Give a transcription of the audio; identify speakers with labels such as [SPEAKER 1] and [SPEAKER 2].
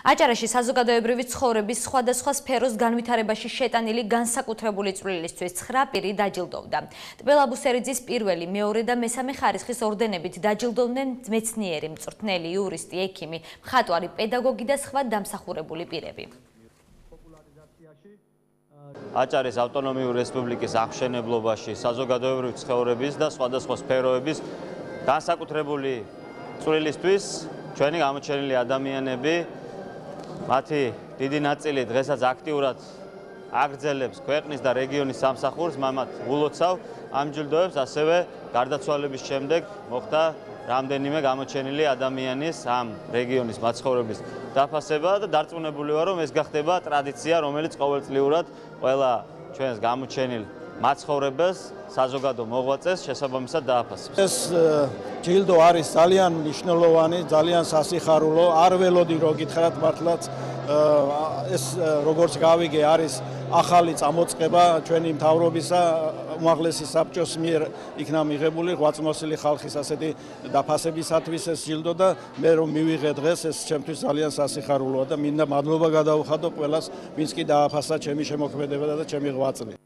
[SPEAKER 1] აჭარაში საზოგადოებრივი ცხოვრების სხვადასხვა სფეროს განვითარებაში შეტანილი განსაკუთრებული წვლილისთვის 9 პირი დაჯილდოვდა. ტბელ აბუსერიძის პირველი, მეორე და მესამე ხარისხის ორდენებით დაჯილდოვდნენ მეცნიერი, მწვრთნელი, იურისტი, ექიმი, მხატვარი, პედაგოგი და სხვა დამსახურებული პირები.
[SPEAKER 2] აჭარის ავტონომიური რესპუბლიკის აღმშენებლობაში საზოგადოებრივი ცხოვრების და სხვადასხვა სფეროების განსაკუთრებული წვლილისთვის ჩვენი გამოჩენილი ადამიანები მათი დიდი ნაწილი დღესაც აქტიურად აგრძელებს ქვეყნის და რეგიონის სამსახურს, მამად ულოცავ ამ ჯილდოებს, ასევე გარდაცვალების შემდეგ მოხდა რამდენიმე გამოჩენილი ადამიანის ამ რეგიონის მაცხოვრების დაფასება და დარწმუნებული ვარ, რომ ეს გახდება ტრადიცია, რომელიც ყოველწლიურად ყველა ჩვენს გამოჩენილ მაცხოვრებას, საზოგადო მოღვაწეს შესაბამისად დააფასებს.
[SPEAKER 3] ეს ჯილდო არის ძალიან მნიშვნელოვანი, ძალიან სასიხარულო, არ ველოდი რომ გითხრათ მართლაც ეს როგორც გავიგე არის ახალი წამოწყება ჩვენი მთავრობისა უმაღლესი საბჭოს მიერ იქნა მიღებული ღვაწლმოსილი ხალხის ასეთი დაფასებისათვის ეს ჯილდო და მე რომ მივიღე დღეს ეს ჩემთვის ძალიან სასიხარულოა და მინდა მადლობა გადავხადო ყველას, ვინც კი დააფასა ჩემი შემოქმედება და ჩემი ღვაწლი.